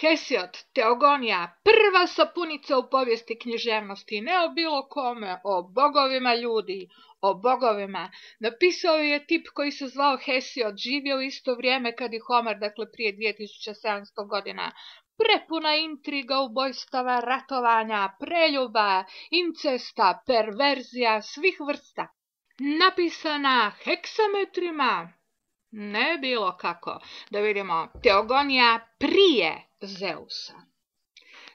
Hesiod, Teogonija, prva sapunica u povijesti književnosti, ne o bilo kome, o bogovima ljudi, o bogovima. Napisao je tip koji se zvao Hesiod, živio u isto vrijeme kad i Homer, dakle prije 2700 godina. Prepuna intriga, ubojstava, ratovanja, preljuba, incesta, perverzija, svih vrsta. Napisana heksametrima, ne bilo kako. Da vidimo, Teogonija prije Zeusa.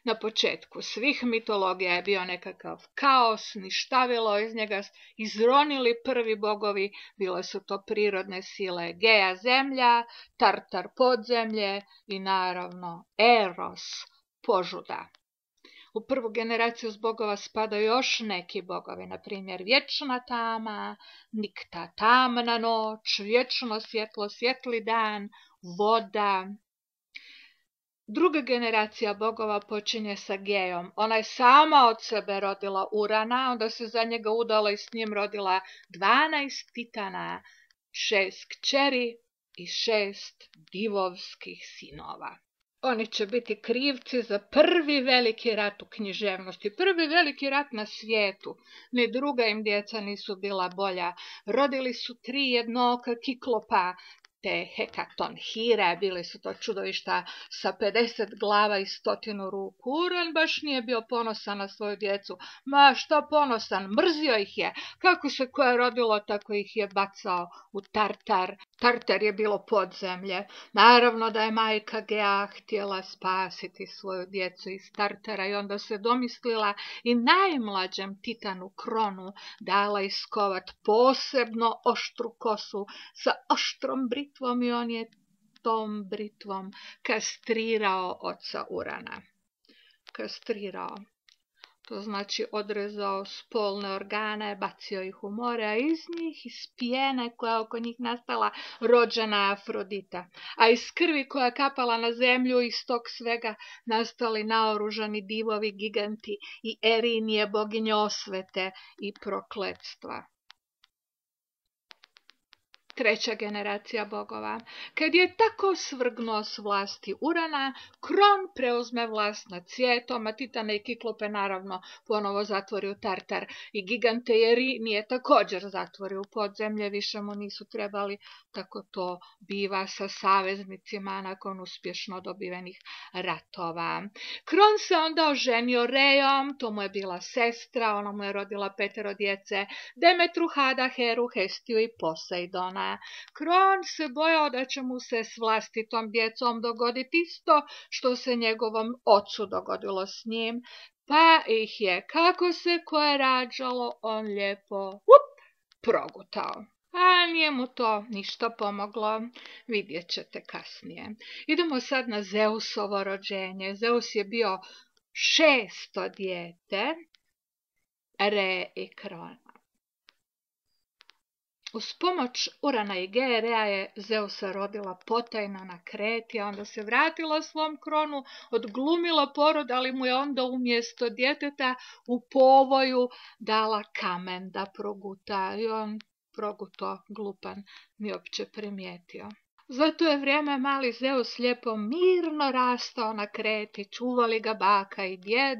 Na početku svih mitologija je bio nekakav kaos, ništavilo, iz njega izronili prvi bogovi, bile su to prirodne sile Geja zemlja, Tartar podzemlje i naravno Eros požuda. U prvu generaciju bogova spadaju još neki bogovi, na primjer vječna tama, nikta tamna noć, vječno svjetlo, svijetli dan, voda. Druga generacija bogova počinje sa Gejom. Ona je sama od sebe rodila Urana, onda se za njega udala i s njim rodila 12 titana, 6 kćeri i 6 divovskih sinova. Oni će biti krivci za prvi veliki rat u književnosti, prvi veliki rat na svijetu. Ni druga im djeca nisu bila bolja. Rodili su 3 jednooka kiklopa, te hekatonhire, bili su to čudovišta sa 50 glava i 100 ruku. Uran baš nije bio ponosan na svoju djecu. Ma šta ponosan, mrzio ih je. Kako se koje rodilo, tako ih je bacao u Tartar. Tartar je bilo podzemlje. Naravno da je majka Gea htjela spasiti svoju djecu iz Tartara i onda se domislila i najmlađem titanu Kronu dala iskovat posebno oštru kosu sa oštrom britvom i on je tom britvom kastrirao oca Urana. Kastrirao. To znači odrezao spolne organe, bacio ih u more, a iz njih, iz pjene koja je oko njih nastala, rođena Afrodita. A iz krvi koja je kapala na zemlju, iz tog svega nastali naoružani divovi, giganti i Erinije, boginje osvete i prokletstva. Treća generacija bogova. Kad je tako svrgnuo s vlasti Urana, Kron preuzme vlast nad svijetom, a Titane i Kiklope naravno ponovo zatvori u Tartar i gigante i Erinije također zatvori u podzemlje, više mu nisu trebali, tako to biva sa saveznicima nakon uspješno dobivenih ratova. Kron se onda oženio Rejom, to mu je bila sestra, ona mu je rodila 5 djece, Demetru, Hada, Heru, Hestiju i Poseidona. Kron se bojao da će mu se s vlastitom djecom dogoditi isto što se njegovom ocu dogodilo s njim, pa ih je, kako se koje rađalo, on lijepo progutao. A nije mu to ništa pomoglo, vidjet ćete kasnije. Idemo sad na Zeusovo rođenje. Zeus je bio 6. dijete Re i Krona. Uz pomoć Urana i Geje, Rea je Zeusa rodila potajno na Kreti, a onda se vratila svom Kronu, odglumila porod, ali mu je onda umjesto djeteta u povoju dala kamen da proguta i on proguto, glupan, nije uopće primijetio. Zato je vrijeme mali Zeus lijepo mirno rastao na Kreti, čuvali ga baka i djed,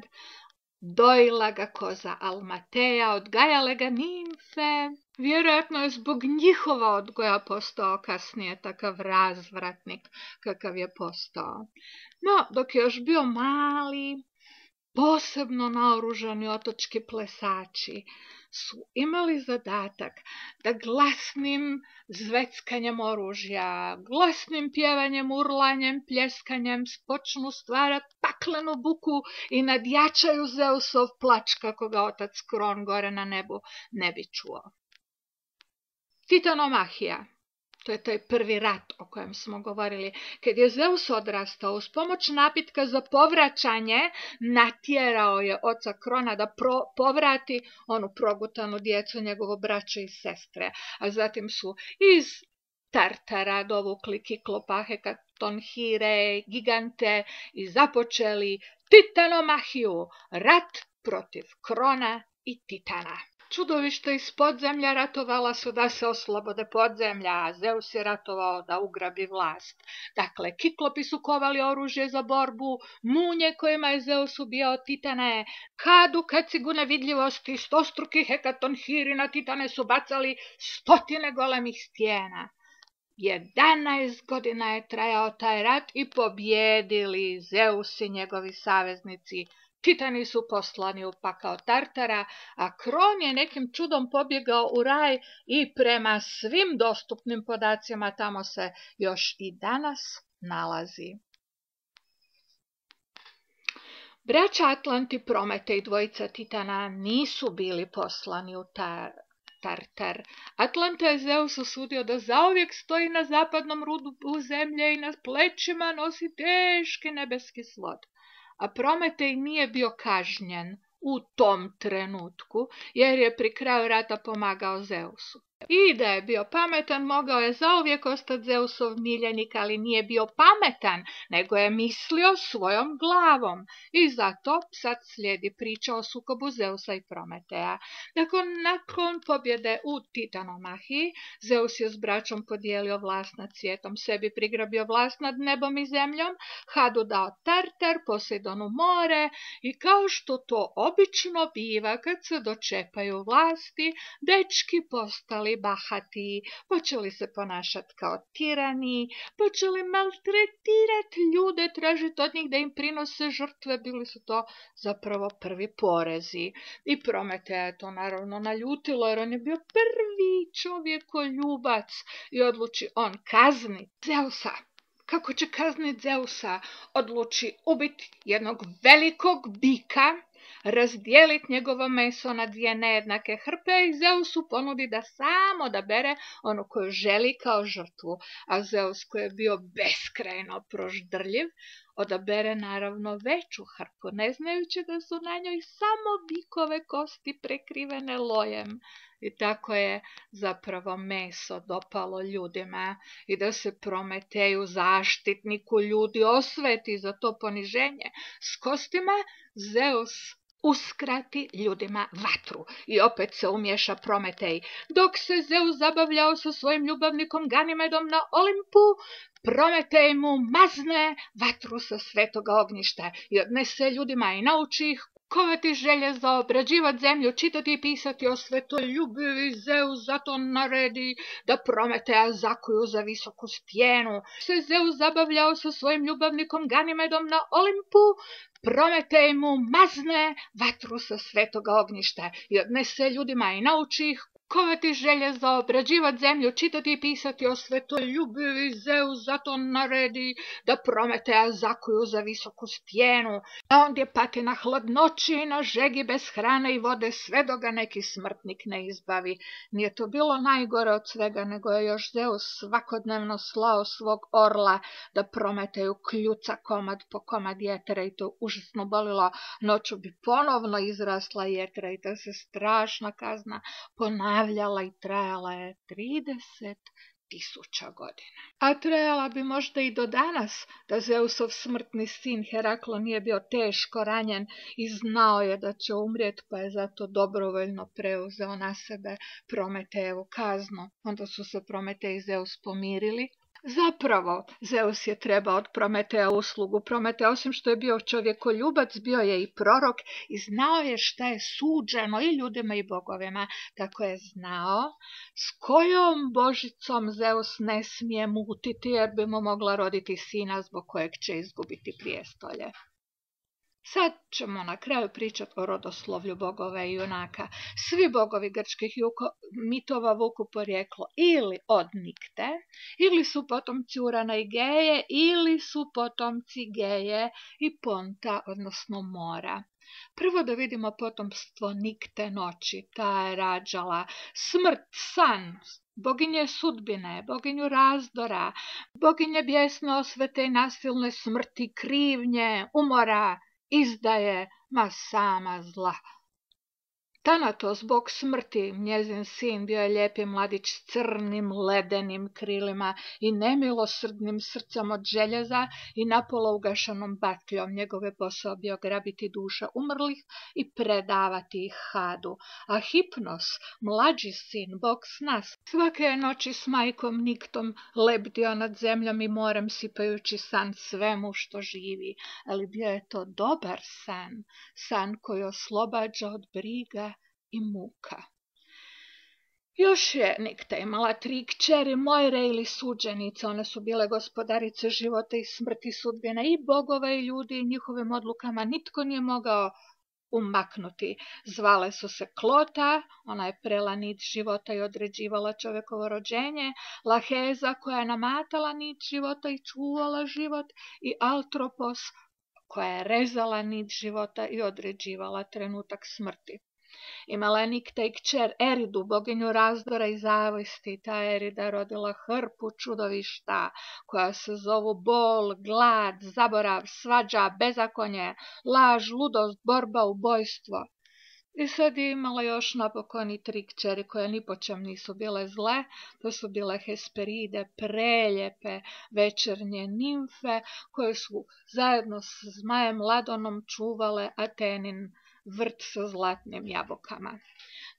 dojila ga koza Almateja, odgajale ga nimfe. Vjerojatno je zbog njihova odgoja postao kasnije takav razvratnik kakav je postao. No, dok je još bio mali, posebno naoružani otočki plesači su imali zadatak da glasnim zveckanjem oružja, glasnim pjevanjem, urlanjem, pljeskanjem počnu stvarati paklenu buku i nadjačaju Zeusov plač kako ga otac Kron gore na nebu ne bi čuo. Titanomahija. To je taj prvi rat o kojem smo govorili. Kad je Zeus odrastao, uz pomoć napitka za povraćanje, natjerao je oca Krona da povrati onu progutanu djecu, njegovo braću i sestre. A zatim su iz Tartara dovukli Kiklopa, hekatonhire, gigante i započeli Titanomahiju, rat protiv Krona i Titana. čudovišta iz podzemlja ratovala su da se oslobode podzemlja, a Zeus je ratovao da ugrabi vlast. Dakle, Kiklopi su kovali oružje za borbu, munje kojima je Zeus ubijao titane, Hadu kacigu nevidljivosti, stostruki hekatonhiri na titane su bacali 100 golemih stijena. 11 godina je trajao taj rat i pobjedili Zeus i njegovi saveznici. Titani su poslani u pakao Tartara, a Kron je nekim čudom pobjegao u raj i prema svim dostupnim podacima tamo se još i danas nalazi. Braća Atlanti, Prometej i dvojica Titana nisu bili poslani u Tartar. Atlanta je Zeus osudio da zauvijek stoji na zapadnom rubu zemlje i na plećima nosi teški nebeski svod. A Prometej nije bio kažnjen u tom trenutku, jer je pri kraju rata pomagao Zeusu. I da je bio pametan, mogao je zauvijek ostati Zeusov miljenik, ali nije bio pametan, nego je mislio svojom glavom. I zato sad slijedi priča o sukobu Zeusa i Prometeja. Dakle, nakon pobjede u Titanomahiji, Zeus je s braćom podijelio vlast nad svijetom, sebi prigrabio vlast nad nebom i zemljom, Hadu dao Tartar, Posejdonu more i kao što to obično biva kad se dočepaju vlasti, dečki postali bahati, počeli se ponašati kao tirani, počeli maltretirati ljude, tražiti od njih da im prinose žrtve, bili su to zapravo prvi porezi. I Prometeja je to naravno naljutilo, jer on je bio prvi čovjekoljubac i odluči on kazniti Zeusa. Kako će kazniti Zeusa? Odluči ubiti jednog velikog bika, razdijeliti njegovo meso na 2 nejednake hrpe i Zeusu ponudi da sam odabere onu koju želi kao žrtvu. A Zeus, koji je bio beskrajno proždrljiv, odabere naravno veću hrpu, ne znajući da su na njoj samo bikove kosti prekrivene lojem. I tako je zapravo meso dopalo ljudima i da se Prometeju, zaštitniku ljudi, osveti za to poniženje s kostima, Zeus uskrati ljudima vatru i opet se umješa Prometej. Dok se Zeus zabavljao sa svojim ljubavnikom Ganimedom na Olimpu, Prometej mu mazne vatru sa svetoga ognjišta i odnese ljudima i nauči ih kovati željezo, obrađivati zemlju, čitati i pisati o svetoljubivi. Zeus zato naredi da Prometeja zakuju za visoku stijenu. Se Zeus zabavljao sa svojim ljubavnikom Ganimedom na Olimpu, Prometej mu mazne vatru sa svetoga ognjišta i odnese ljudima i nauči ih kovati željezo, obrađivati zemlju, čitati i pisati o svetoljubivi. Zeus zato naredi da Prometeja zakuju za visoku stijenu, a ondje pati na hladnoći i na žegi bez hrane i vode sve dok ga neki smrtnik ne izbavi. Nije to bilo najgore od svega, nego je još Zeus svakodnevno slao svog orla da Prometeju kljuca komad po komad jetra i to užasno bolilo. Noću bi ponovno izrasla jetra i ta se strašna kazna ponavljala i trajala je 30.000 godina. A trajala bi možda i do danas, da Zeusov smrtni sin Heraklo nije bio teško ranjen i znao je da će umrijeti, pa je zato dobrovoljno preuzeo na sebe Prometejevu kaznu. Onda su se Prometej i Zeus pomirili. Zapravo, Zeus je trebao od Prometeja uslugu. Prometej, osim što je bio čovjekoljubac, bio je i prorok i znao je šta je suđeno i ljudima i bogovima. Tako je znao s kojom božicom Zeus ne smije mutiti, jer bi mu mogla roditi sina zbog kojeg će izgubiti prijestolje. Sad ćemo na kraju pričati o rodoslovlju bogova i junaka. Svi bogovi grčkih mitova vuku porijeklo ili od Nikte, ili su potomci Urana i Geje, ili su potomci Geje i Ponta, odnosno mora. Prvo da vidimo potomstvo Nikte noći. Ta je rađala smrt, san, boginje sudbine, boginju razdora, boginje bijesne osvete i nasilne smrti, krivnje, umora, izdaje, ma sama zla. Tanatos, bog smrti, njezin sin, bio je lijepi mladić s crnim ledenim krilima i nemilosrdnim srcem od željeza i napola ugašanom batljom. Njegov je posao bio grabiti duše umrlih i predavati ih Hadu. A Hipnos, mlađi sin, bog sna, svake je noći s majkom Niktom lebdio nad zemljom i morem, sipajući san svemu što živi. Ali bio je to dobar san, san koji oslobađa od briga i muka. Još je Nikta imala 3 kćeri, Mojre ili suđenice. One su bile gospodarice života i smrti, sudbine i bogova i ljudi, i njihovim odlukama nitko nije mogao umaknuti. Zvale su se Klota, ona je prela nit života i određivala čovekovo rođenje, Laheza koja je namatala nit života i čuvala život, i Altropos koja je rezala nit života i određivala trenutak smrti. Imala je Nikta i kćer Eridu, boginju razdora i zavisti. Ta Erida rodila hrpu čudovišta koja se zovu bol, glad, zaborav, svađa, bezakonje, laž, ludost, borba, ubojstvo. I sad je imala još napokon i 3 kćeri koje ni po čem nisu bile zle. To su bile Hesperide, preljepe večernje nimfe koje su zajedno s zmajem Ladonom čuvale Atenin vrt sa zlatnim jabukama.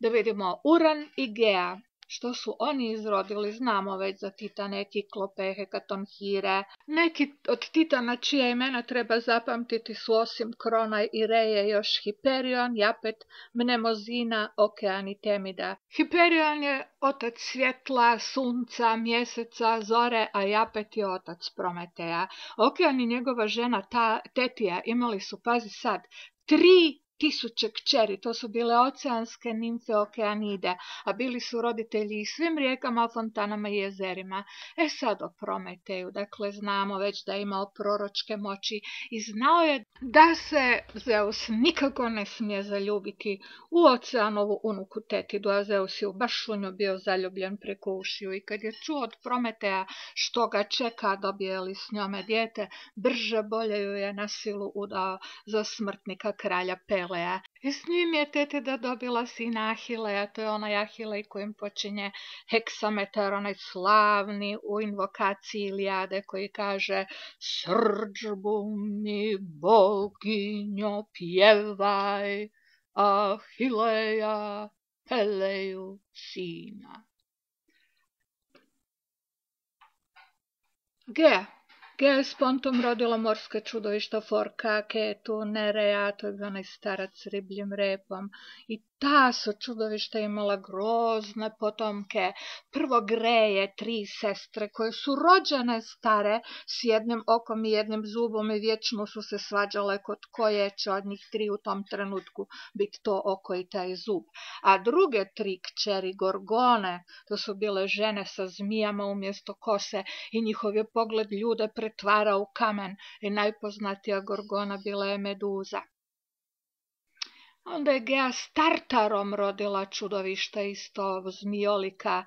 Da vidimo Uran i Gea. Što su oni izrodili, znamo već za Titane, Kiklope, Hekatonhire. Neki od Titana čija imena treba zapamtiti su osim Krona i Reje još Hiperion, Japet, Mnemozina, Okean i Temida. Hiperion je otac svjetla, sunca, mjeseca, zore, a Japet je otac Prometeja. Okean i njegova žena Tetija imali su, pazi sad, 3000 kćeri, to su bile oceanske nimfe Okeanide, a bili su roditelji i svim rijekama, fontanama i jezerima. Sad o Prometeju, dakle znamo već da je imao proročke moći i znao je da se Zeus nikako ne smije zaljubiti u Oceanovu unuku Tetidu, a Zeus je baš u nju bio zaljubljen preko ušiju, i kad je čuo od Prometeja što ga čeka, dobije li s njome dijete, brže bolje ju je na silu udao za smrtnika kralja Pelea. I s njim je Tetida dobila sina Ahileja, to je onaj Ahilej kojim počinje heksametar, onaj slavni u invokaciji Ilijade koji kaže: Srdžbu mi boginjo pjevaj, Ahileja Peleju sina. Gea je s Pontom rodila morska čudovišta Forka, Ketu, Nereja, to je bio onaj starac s ribljim repom. I ta su čudovišta imala grozne potomke. Prvo Greje, 3 sestre koje su rođene stare s jednim okom i jednim zubom i vječno su se svađale kod koje će od njih 3 u tom trenutku biti to oko i taj zub. A druge 3 kćeri Gorgone, to su bile žene sa zmijama umjesto kose i njihov je pogled ljude pretvarao u kamen, i najpoznatija Gorgona bila je Meduza. Onda je Gea s Tartarom rodila čudovišta isto, zmijolika.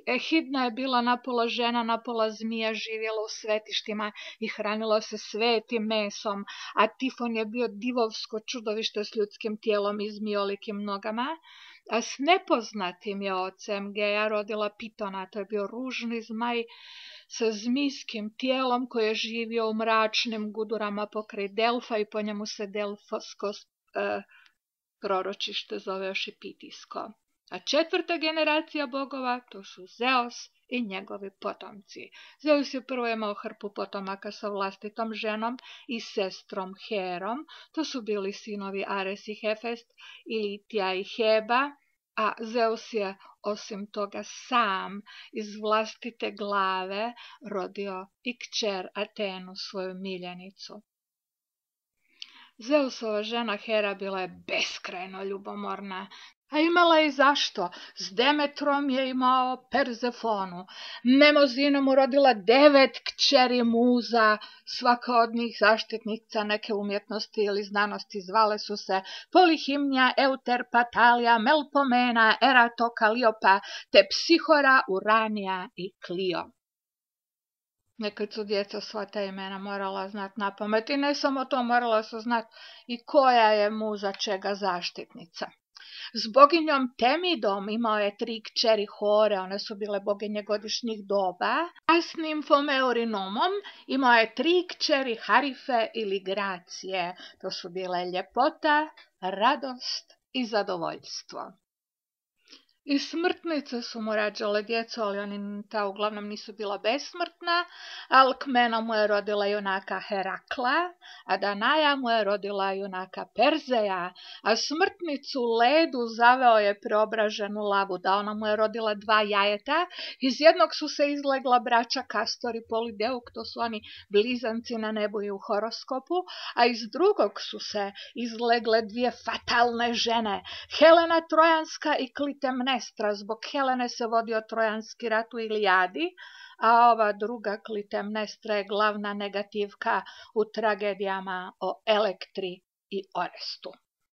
Ehidna je bila napola žena, napola zmija, živjela u svetištima i hranila se svetim mesom, a Tifon je bio divovsko čudovište s ljudskim tijelom i zmijolikim nogama. A s nepoznatim je ocem Gea rodila Pitona, to je bio ružni zmaj sa zmijskim tijelom koji je živio u mračnim gudurama pokraj Delfa i po njemu se Delfosko proročište zove još i Pitijsko. A 4. generacija bogova to su Zeus i njegovi potomci. Zeus je prvo imao hrpu potomaka sa vlastitom ženom i sestrom Herom. To su bili sinovi Ares i Hefest, Ilitija i Heba, a Zeus je osim toga sam iz vlastite glave rodio i kćer Atenu, svoju miljenicu. Zeusova žena Hera bila je beskrajno ljubomorna, a imala je i zašto. S Demetrom je imao Perzefonu, Mnemozina mu rodila 9 kćeri muza, svaka od njih zaštitnica neke umjetnosti ili znanosti. Zvale su se Polihimnija, Euterpa, Talija, Melpomena, Erato, Kaliopa, te Psihora, Uranija i Klio. Nekad su djeca sva ta imena morala znati napamet, i ne samo to, morala su znati i koja je muza čega zaštitnica. S boginjom Temidom imao je 3 kćeri Hore, one su bile boginje godišnjih doba, a s nimfom Eurinomom imao je 3 kćeri Harife ili Gracije, to su bile ljepota, radost i zadovoljstvo. I smrtnice su mu rađale djecu, ali ta uglavnom nisu bila besmrtna. Alkmena mu je rodila junaka Herakla, a Danaja mu je rodila junaka Perzeja, a smrtnicu Ledu zaveo je preobraženu Labuda. Ona mu je rodila 2 jajeta, iz jednog su se izlegla braća Kastor i Polideuk, to su oni blizanci na nebu i u horoskopu, a iz drugog su se izlegle 2 fatalne žene, Helena Trojanska i Klitemnestra. Zbog Helene se vodio Trojanski rat u Ilijadi, a ova druga Klitemnestra je glavna negativka u tragedijama o Elektri i Orestu.